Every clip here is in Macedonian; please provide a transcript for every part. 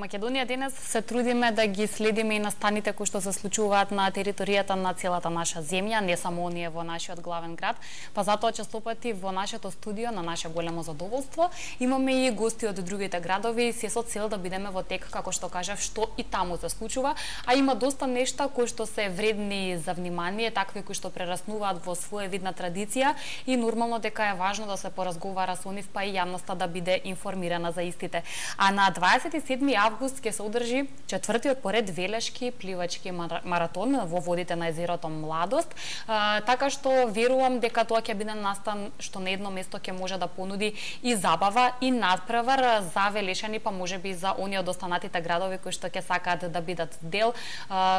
Македонија денес се трудиме да ги следиме и настаните кои што се случуваат на територијата на целата наша земја, не само оние во нашиот главен град, па затоа честопати во нашето студио, на наше големо задоволство, имаме и гости од другите градови, се со цел да бидеме во тек, како што кажав, што и таму се случува, а има доста нешта кои што се вредни за внимание, такви кои што прераснуваат во своевидна традиција и нормално дека е важно да се поразговара со нив, па и јавноста да биде информирана за истите. А на 27 август ќе се одржи четвртиот поред велешки пливачки маратон во водите на езерото Младост, така што верувам дека тоа ќе биде настан што на едно место ќе може да понуди и забава и надпревар за велешани, па можеби за оние од останатите градови кои што ќе сакаат да бидат дел.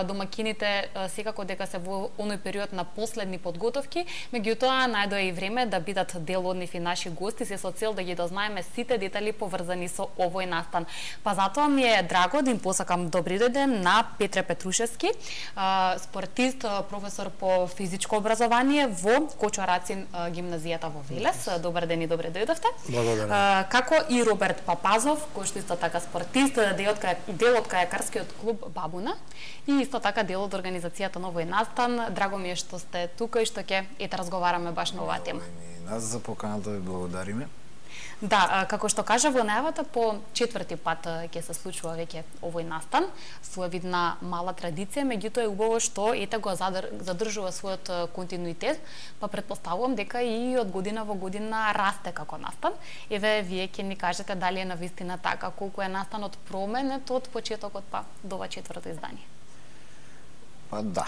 Домакините секако дека се во оној период на последни подготовки, меѓутоа најдоа и време да бидат дел од нив и наши гости, се со цел да ги дознаеме сите детали поврзани со овој настан. Па затоа ми е драго да им посакам добри ден на Петре Петрушевски, спортист, професор по физичко образование во Кочо-Рацин гимназијата во Велес. Добар ден и добре дојдовте. Благодарам. Како и Роберт Папазов, кој што исто така спортист, дел од кајакарскиот клуб Бабуна и исто така дел од организацијата на овој настан. Драго ми е што сте тука и што ќе разговараме баш на оваа тема. Нас за поканата ви благодариме. Да, како што кажа во најавата, по четврти пат ќе се случува веќе овој настан, своевидна мала традиција, меѓутоа е убаво што ете го задржува својот континуитет, па претпоставувам дека и од година во година расте како настан. Еве, вие ќе ни кажете дали е навистина така, колку е настанот променет од почетокот па до ова четврто издание. Па да,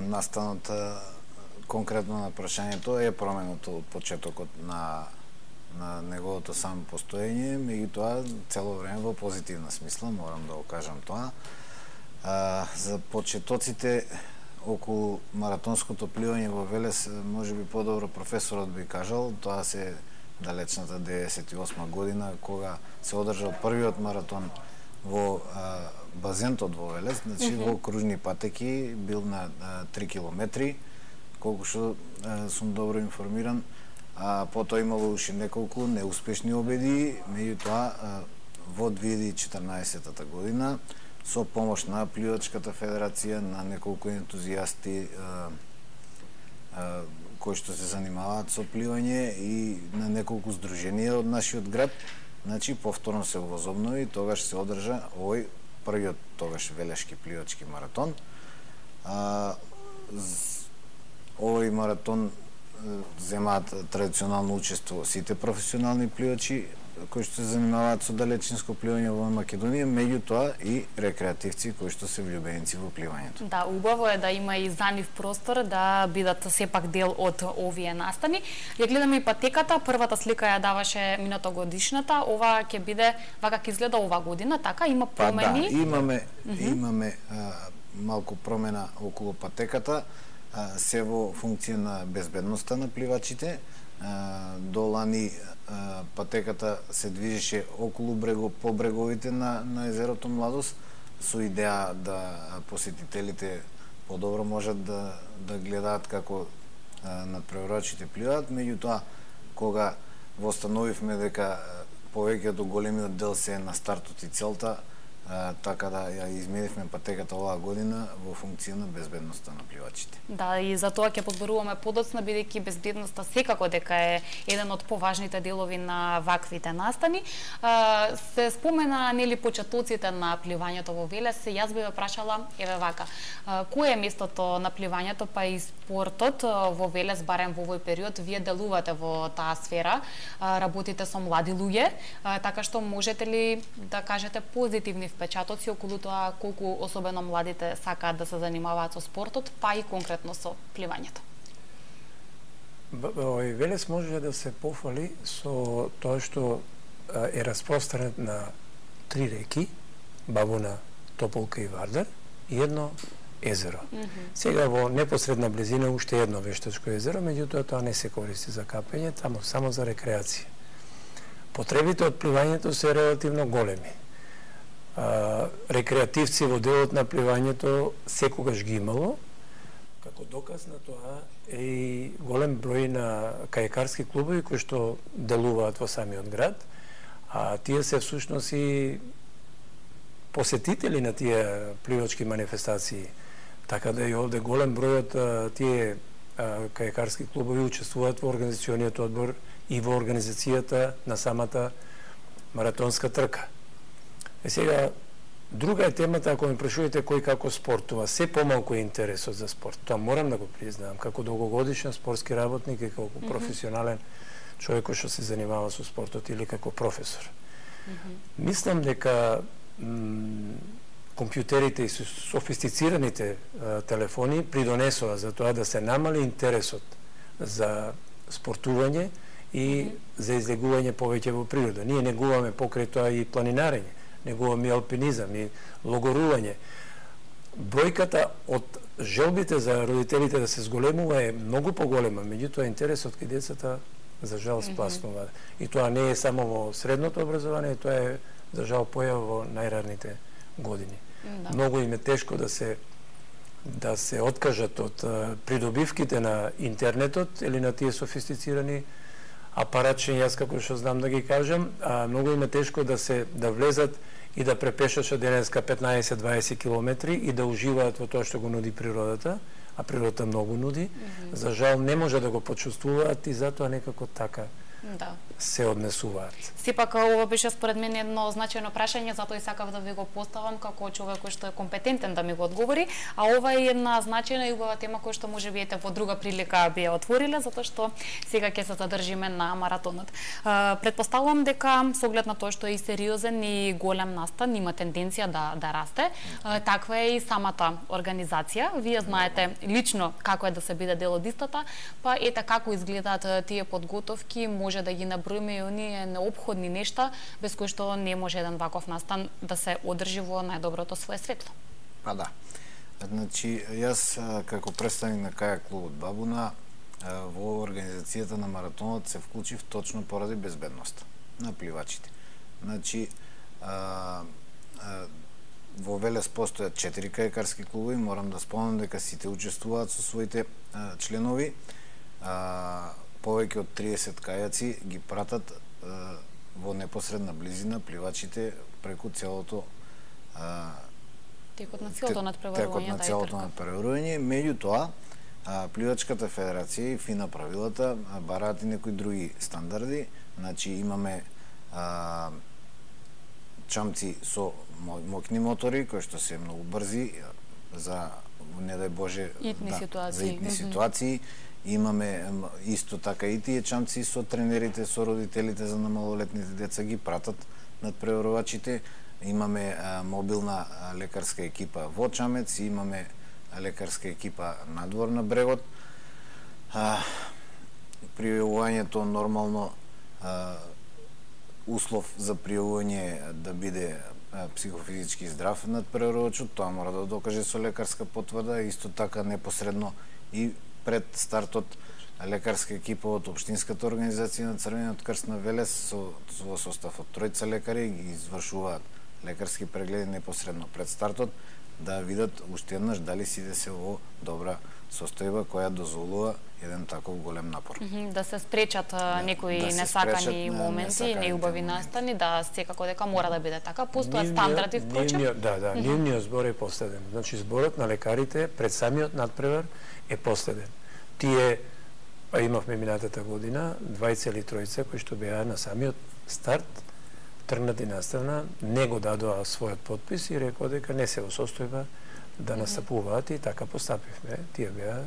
настанот конкретно на прашањето е променет од почетокот на неговото само постоење, меѓутоа цело време во позитивна смисла, морам да го кажам тоа. За почетоците околу маратонското пливање во Велес, можеби подобро професорот би кажал, тоа се далечната 98 година, кога се одржал првиот маратон во базентот во Велес, значи во кружни патеки, бил на 3 километри, колку што сум добро информиран. Потоа имало уште неколку неуспешни обеди, меѓутоа во 2014 година со помош на Пливачката федерација, на неколку ентузијасти кои што се занимаваат со пливање и на неколку здруженија од нашиот град, значи повторно се возобнови, тогаш се одржа овој првиот тогаш велешки пливачки маратон. Овој маратон земаат традиционално учество сите професионални пливачи кои што се занимаваат со далечинско пливање во Македонија, меѓутоа и рекреативци кои што се влюбеници во пливањето. Да, убаво е да има и за нив простор да бидат сепак дел од овие настани. Ја гледаме и патеката, првата слика ја даваше минатогодишната, ова ќе биде вака ќе изгледа ова година, така има промени. Па да, имаме малку промена околу патеката, се во функција на безбедноста на пливачите. До лани патеката се движеше околу по бреговите на езерото Младост, со идеја да посетителите подобро можат да гледаат како надпреварувачите пливаат, меѓутоа кога востановивме дека повеќето големиот дел се на стартот и целта, така да ја изменивме патеката оваа година во функција на безбедноста на пливачите. Да, и за тоа ќе подборуваме подоцна, бидејќи безбедноста секако дека е еден од поважните делови на ваквите настани. Се спомена нели почетоците на пливањето во Велес, јас би ве прашала еве вака. Кое е местото на пливањето па и спортот во Велес, барем во овој период? Вие делувате во таа сфера, работите со млади луѓе, така што можете ли да кажете позитивни впечатоци околу тоа колку особено младите сакаат да се занимаваат со спортот, па и конкретно со пливањето? Велес може да се пофали со тоа што е распространет на 3 реки, Бабуна, Тополка и Вардар, и едно езеро. Сега во непосредна близина уште едно вештачко езеро, меѓутоа тоа не се користи за капење, таму само за рекреација. Потребите од пливањето се релативно големи. Рекреативци во делот на пливањето секогаш ги имало. Како доказ на тоа е и голем број на кајакарски клубови кои што делуваат во самиот град, а тие се всушност и посетители на тие пливачки манифестации. Така да и овде голем број од тие кајакарски клубови учествуваат во организациониот одбор и во организацијата на самата маратонска трка. Сега, друга е темата, ако ме прашувате кој како спортува, се помалку е интересот за спорт. Тоа морам да го признавам, како долгогодишен спортски работник и како професионален човек кој што се занимава со спортот или како професор. Мислам дека компјутерите и софистицираните телефони придонесува за тоа да се намали интересот за спортување и за излегување повеќе во природа. Ние негуваме покрај тоа и планинарење, негуваме и алпинизам и логорување. Бројката од желбите за родителите да се зголемува е многу поголема, меѓутоа интересот кај децата за жал спласнува. И тоа не е само во средното образование, тоа е за жал појава во најраните години. Многу им е тешко да се откажат од придобивките на интернетот или на тие софистицирани апаратчиња, јас како што знам да ги кажам, многу им е тешко да влезат и да препешачат денеска 15-20 километри и да уживаат во тоа што го нуди природата, а природата многу нуди. За жал не може да го почувствуваат и затоа некако така се однесуваат. Сепак ова беше според мен едно значајно прашање, затоа и сакав да ви го поставам како човек кој што е компетентен да ми го одговори, а ова е една значајна и убава тема која што можеби ете во друга прилика би ја отвориле, затоа што сега ќе се задржиме на маратонот. Предпоставувам дека со оглед на тоа што е и сериозен и голем настан, има тенденција да расте. Таква е и самата организација. Вие знаете лично како е да се биде дел од истата, па ете како изгледаат тие подготовки, може да ги наброиме и оние неопходни нешта без кои што не може еден ваков настан да се одржи во најдоброто свое светло. Па да. Значи, јас како представник на кајак клубот Бабуна во организацијата на маратонот се вклучив точно поради безбедноста на пливачите. Значи, во Велес постојат 4 кајакарски клубови, морам да спомнам дека сите учествуваат со своите членови. Повеќе од 30 кајаци ги пратат во непосредна близина пливачите преку целото текот на целото надпреварување. Меѓутоа, Пливачката федерација и ФИНА правилата бараат и некои други стандарди. Значи имаме чамци со моќни мотори кои што се многу брзи за не дај Боже за итни ситуации. Имаме исто така и тие чамци со тренерите, со родителите за малолетните деца ги пратат надпреварувачите. Имаме мобилна лекарска екипа во Чамец, имаме лекарска екипа надвор на брегот. Пријавувањето нормално услов за пријавување да биде психофизички здрав надпреварувачот, тоа мора да докаже со лекарска потврда, исто така непосредно и пред стартот лекарска екипа од општинската организација на Црвениот крст на Велес во состав од 3 лекари ги извршуваат лекарски прегледи непосредно пред стартот да видат уште еднаш дали сите се во добра состојба која дозволува еден таков голем напор. Да се спречат некои несакани моменти и неубави настани, да секако дека мора да биде така. Постојат стандарди впрочем. Нивниот збор е последен. Значи зборот на лекарите пред самиот надпревар е последен. Тие имавме минатата година двајца или тројца кои што беа на самиот старт тргнати наставна, не го дадоа својот подпис и рекоа дека не се во состојба да настапуваат и така постапивме. Тие беа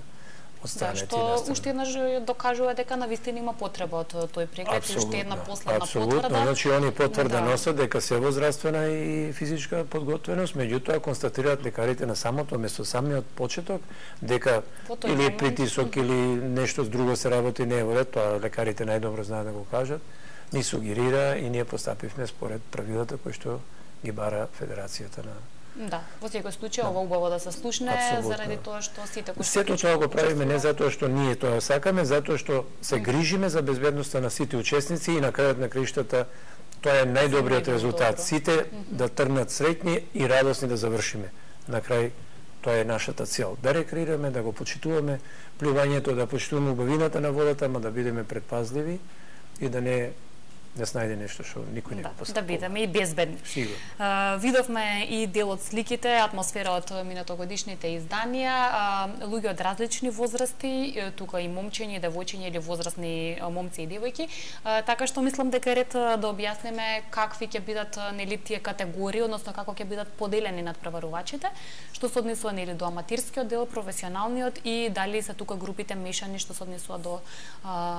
одстранети наставна. Што уште еднаш докажува дека навистина има потреба од тој преглед и уште една последна потврда. Апсолутно, значи они потврда носат дека се во здравствена и физичка подготвеност, меѓутоа констатираат лекарите на самото место, самиот почеток, дека или притисок или нешто друго се работи не е во ред, тоа лекарите најдобро знаат да го кажат. Ни сугерира и ние постапивме според правилата кои што ги бара Федерацијата на... Да, во секој случај ова убаво да се слушне заради тоа што сите кои сето тоа го правиме не затоа што ние тоа сакаме, затоа што се грижиме за безбедноста на сите учесници и на крајот на криштата тоа е најдобриот резултат. Сите да тргнат среќни и радосни да завршиме. На крај тоа е нашата цел. Да рекреираме, да го почитуваме пливањето, да почитуваме убавината на водата, ама да бидеме предпазливи и да не не снајде нешто што никој не го постапува. Да бидеме и безбедни. Сигурно. Видовме и дел од сликите, атмосфера од минатогодишните изданија, луѓе од различни возрасти, тука и момчиња, и девојчиња или возрастни момци и девојки, така што мислам дека е ред да објасниме какви ќе бидат нели тие категории, односно како ќе бидат поделени надпреварувачите, што се однесува нели до аматирскиот дел, професионалниот и дали се тука групите мешани што се однесува до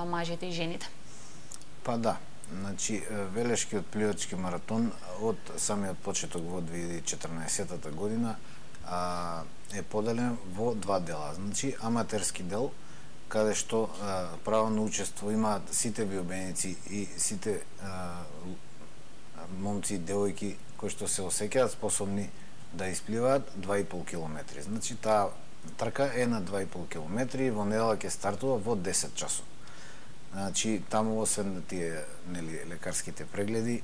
мажите и жените. Па да, значи Велешкиот пливачки маратон од самиот почеток во 2014 година е поделен во два дела. Значи аматерски дел каде што право на учество имаат сите биобеници и сите момци и девојки кои што се осеќаат способни да испливаат 2,5 километри. Значи таа трка е на 2,5 километри, во недела ќе стартува во 10 часот. Значи таму освен тие нели лекарските прегледи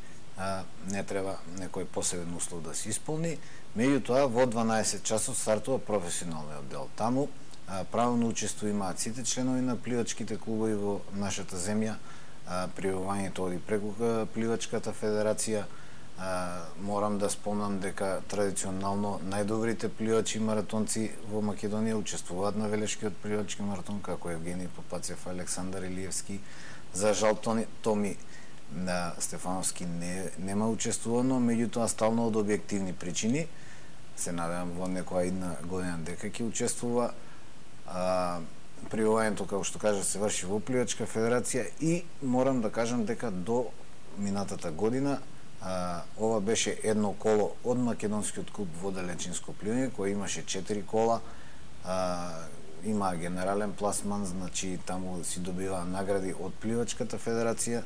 не треба некој посебен услов да се исполни. Меѓутоа во 12 часот стартува професионалниот дел. Таму право на учество имаат сите членови на пливачките клубови во нашата земја. Пријавувањето оди преку пливачката федерација. Морам да спомнам дека традиционално најдобрите пливачи маратонци во Македонија учествуваат на Велешкиот пливачки маратон, како Евгений Попацев, Александар Илиевски. За жал Томи Стефановски нема учествувано, меѓутоа стално од објективни причини. Се надевам во некоја една година дека ќе учествува. Пријавувањето, како што кажа, се врши во Пливачка федерација и морам да кажам дека до минатата година ова беше едно коло од Македонскиот клуб водолечинско пливање, кој имаше 4 кола, има генерален пласман, значи таму си добива награди од Пливачката федерација.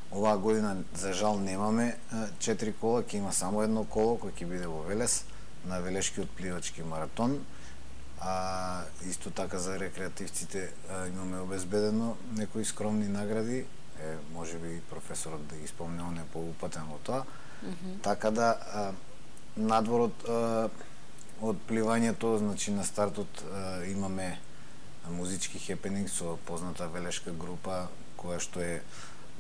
Оваа година за жал немаме 4 кола, ќе има само едно коло кој ќе биде во Велес на Велешкиот пливачки маратон. Исто така за рекреативците имаме обезбедено некои скромни награди. Може би професорот да ги спомне, он е поупатен во тоа. Така да надвор од пливањето, значи на стартот имаме музички хепенинг со позната велешка група која што е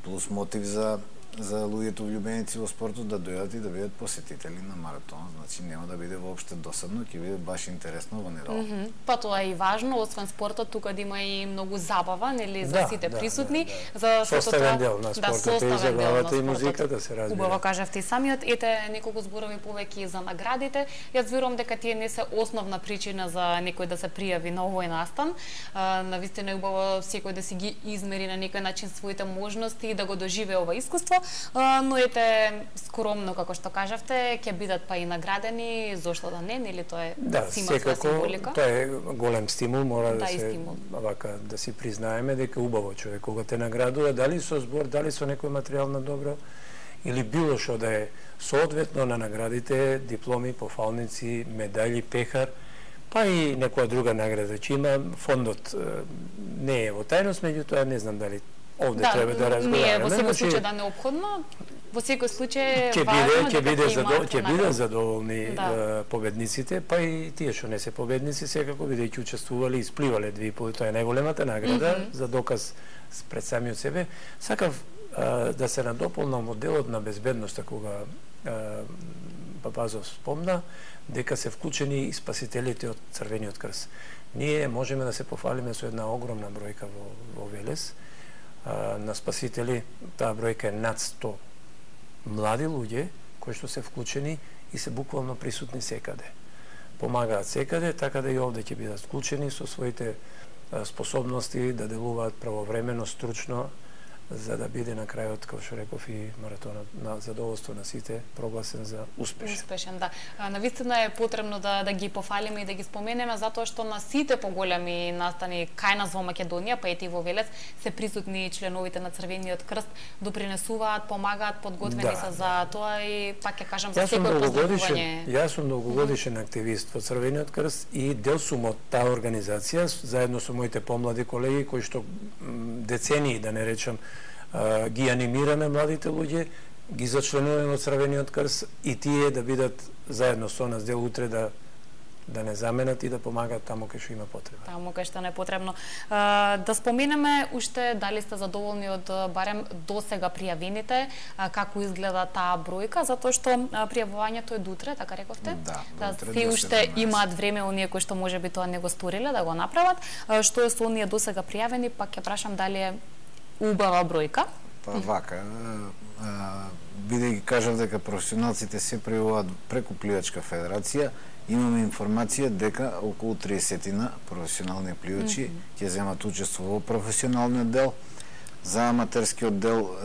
плюс мотив за луѓето влюбеници во спортот да дојдат и да бидат посетители на маратонот. Значи нема да биде воопште досадно, ќе биде баш интересно во недела. Па тоа е и важно, освен спортот, тука да има и многу забава, нели, за сите присутни. За составен дел на спортот и забавата и музиката се разбира. Убаво кажавте и самиот. Ете неколку зборови повеќе за наградите. Јас верувам дека тие не се основна причина за некој да се пријави на овој настан. Навистина е убаво секој да си ги измери на некој начин своите можности и да го доживее ова искуство. Но ете скромно, како што кажавте, ќе бидат па и наградени, зошто да не, нели тоа е сима своја символика. Тоа е голем стимул, мора да се вака да си признаеме дека убаво човек кога те наградува, дали со збор, дали со некој материјално добро или било што да е соодветно на наградите, дипломи, пофалници, медали, пехар, па и некоја друга награда, че има фондот не е во тајност, меѓутоа не знам дали овде треба да разговараме. Во секој случај да неопходно, во секој случај важно ќе бидат задоволни победниците, па и тие што не се победници секако бидејќи учествувале и испливале 2,5, тоа е најголемата награда за доказ пред самиот себе. Сакав да се надополнам моделот на безбедноста кога Папазов спомна дека се вклучени и спасителите од Црвениот крст. Ние можеме да се пофалиме со една огромна бројка во Велес на спасители. Таа бројка е над 100 млади луѓе кои што се вклучени и се буквално присутни секаде. Помагаат секаде, така да и овде ќе бидат вклучени со своите способности да делуваат правовремено, стручно, за да биде на крајот, како што реков, и маратонот на задоволство на сите прогласен за успешен. Успешен, да. Навистина е потребно да ги пофалиме и да ги споменеме, затоа што на сите поголеми настани кај нас во Македонија, па и во Велес, се присутни членовите на Црвениот крст, допринесуваат, помагаат, подготвени се за тоа и пак ќе кажам за секој поздравување. Јас сум долгогодишен активист во Црвениот крст и дел сум од таа организација, заедно со моите помлади колеги кои што децении, да не речам, ги анимираме младите луѓе, ги зачленуваме во Црвениот крст и тие да бидат заедно со нас дел утре да да не заменат и да помагаат таму кај што има потреба. Таму кај што не е потребно. Да споменеме уште дали сте задоволни од барем досега пријавените, како изгледа таа бројка, затоа што пријавувањето е до утре, така рековте? Да, се уште имаат време оние кои што можеби тоа не го сториле да го направат. Што е со оние досега пријавени, пак ќе прашам дали е убава бројка? Па вака, бидејќи кажав дека професионалците се пријавуваат преку Пливачка федерација, имаме информација дека околу 30 професионални пливачи ќе земат учество во професионалниот дел. За аматерскиот дел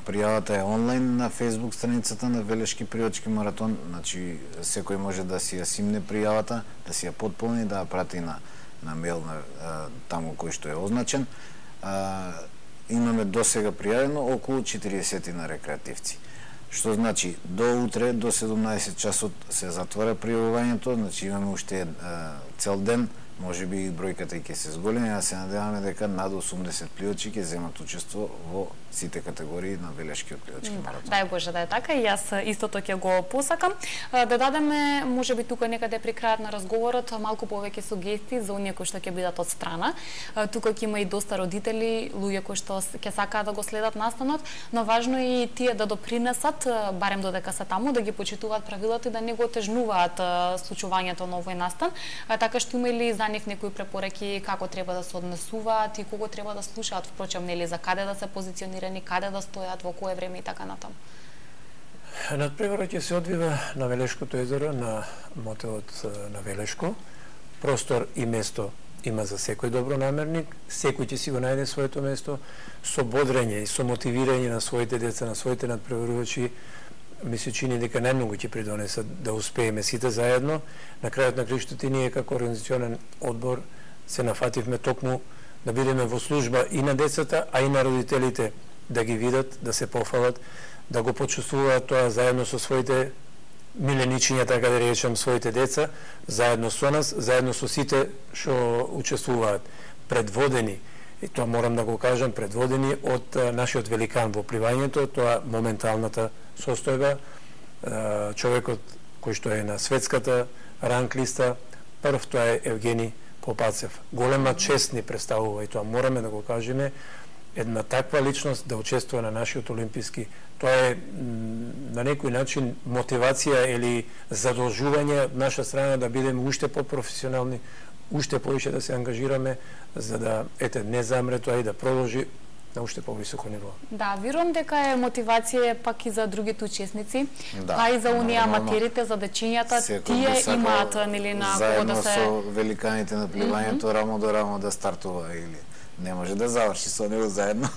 пријавата е онлайн на Facebook страницата на Велешки пливачки маратон, значи секој може да си ја симне пријавата, да си ја потполни, да ја прати на мејл таму кој што е означен. Имаме досега пријавено околу 40 на рекреативци. Што значи, до утре, до 17 часот се затвора пријавувањето, значи имаме уште цел ден, може би и бројката ќе се зголеми, а се надеваме дека над 80 пливачи ќе земат учество во сите категории на Велешкиот пливачки маратон. Дај Боже да е така, и јас истото ќе го посакам. Да дадеме, можеби тука некаде при крајот на разговорот, малку повеќе сугестии за оние кои што ќе бидат од страна. Тука ќе има и доста родители, луѓе кои што ќе сакаат да го следат настанот, но важно е и тие да допринесат, барем додека се таму, да ги почитуваат правилата и да не го отежнуваат случувањето на овој настан. Така што има ли за нив некои препораки како треба да се однесуваат и кого треба да слушаат, впрочем, нели, за каде да се позиционирани, каде да стојат, во кое време и така натаму? Надпреварот ќе се одвива на Велешкото езеро, на мотелот на Велешко. Простор и место има за секој добронамерник, секој ќе си го најде своето место, со бодрење и со мотивирање на своите деца, на своите надпреварувачи. Ми се чини дека најмногу ќе придонесат да успееме сите заедно. На крајот на краиштата и ние како организационен одбор се нафативме токму да бидеме во служба и на децата, а и на родителите, да ги видат, да се пофалат, да го почувствуваат тоа заедно со своите миленичиња, така да речем, своите деца, заедно со нас, заедно со сите што учествуваат, предводени, и тоа морам да го кажам, предводени од нашиот великан во пливањето, тоа моменталната состојба, човекот кој што е на светската ранг листа, прв тоа е Евгени Попацев. Голема чест ни представува и тоа мораме да го кажеме, една таква личност да учествува на нашиот олимписки. Тоа е на некој начин мотивација или задолжување од наша страна да бидеме уште по-професионални, уште повише да се ангажираме за да не замре тоа и да продолжи на уште повисоко ниво. Да, верувам дека е мотивација пак и за другите учесници, па и за оние аматерите, за дечињата, тие имаат нели на кого да се заедно со великаните на пливањето рамо до рамо да стартува или не може да заврши со него заедно.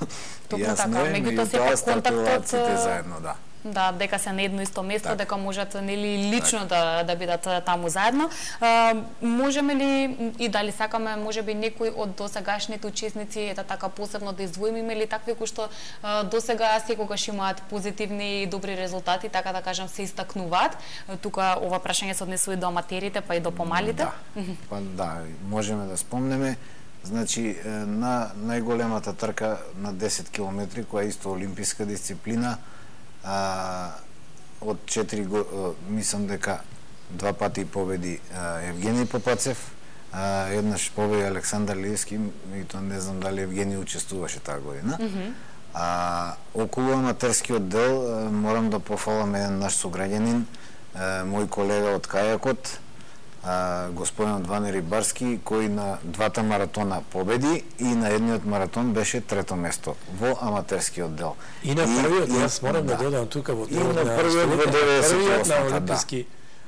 Токму така, меѓутоа сепак контактот заедно, да. Да, дека се на едно исто место, дека можат нели лично да бидат таму заедно. Можеме ли и дали сакаме можеби некој од досегашните учесници така посебно да издвоиме, има ли такви кои што досега секогаш имаат позитивни и добри резултати, така да кажам, се истакнуваат? Тука ова прашање се однесува и до аматерите, па и до помалите. Па да, можеме да спомнеме. Значи, на најголемата трка на 10 километри, која е исто олимписка дисциплина, од 4 мислам дека 2 пати победи Евгений Попацев, еднаш победи Александар Лиевски, и тоа не знам дали Евгений учествуваше таа година. Околу аматерскиот дел морам да пофалам еден наш сограѓанин, мој колега од кајакот, господин Ванери Барски, кој на двата маратона победи и на едниот маратон беше трето место во аматерскиот дел. И на првиот, јас морам да додам тука во првиот на олимписки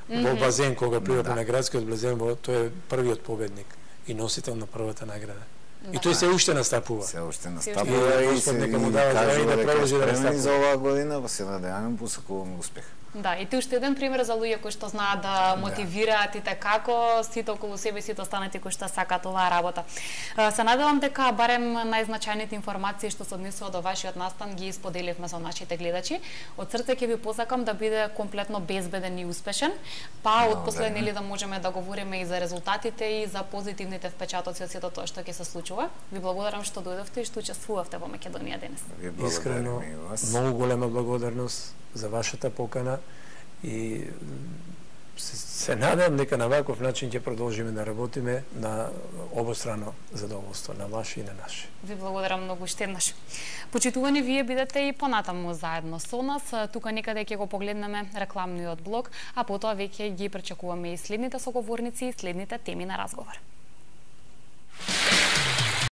во базен, кога пливаме на градскиот базен, тој е првиот победник и носител на првата награда. И тој се уште настапува. Се уште настапува и се кажува дека е спремен за оваа година, па се надеваме посакуваме успех. Да, и ти уште еден пример за луѓе кои што знаат да мотивираат и како сите околу себе, сите останати кои што сакаат оваа работа. Се надевам дека барем најзначајните информации што се однесува до вашиот настан ги споделивме со нашите гледачи. Од срце ќе ви посакам да биде комплетно безбеден и успешен, па отпосле нели да можеме да говориме и за резултатите и за позитивните впечатоци од сето тоа што ќе се случува. Ви благодарам што дојдовте и што учествувавте во Македонија денес. Искрено, многу голема благодарност за вашата покана и се надам дека на ваков начин ќе продолжиме да работиме на обострано задоволство, на ваше и на наше. Ви благодарам многу уште еднаш. Почитувани, вие бидете и понатаму заедно со нас. Тука некаде ќе го погледнеме рекламниот блок, а потоа веќе ги пречекуваме и следните соговорници и следните теми на разговор.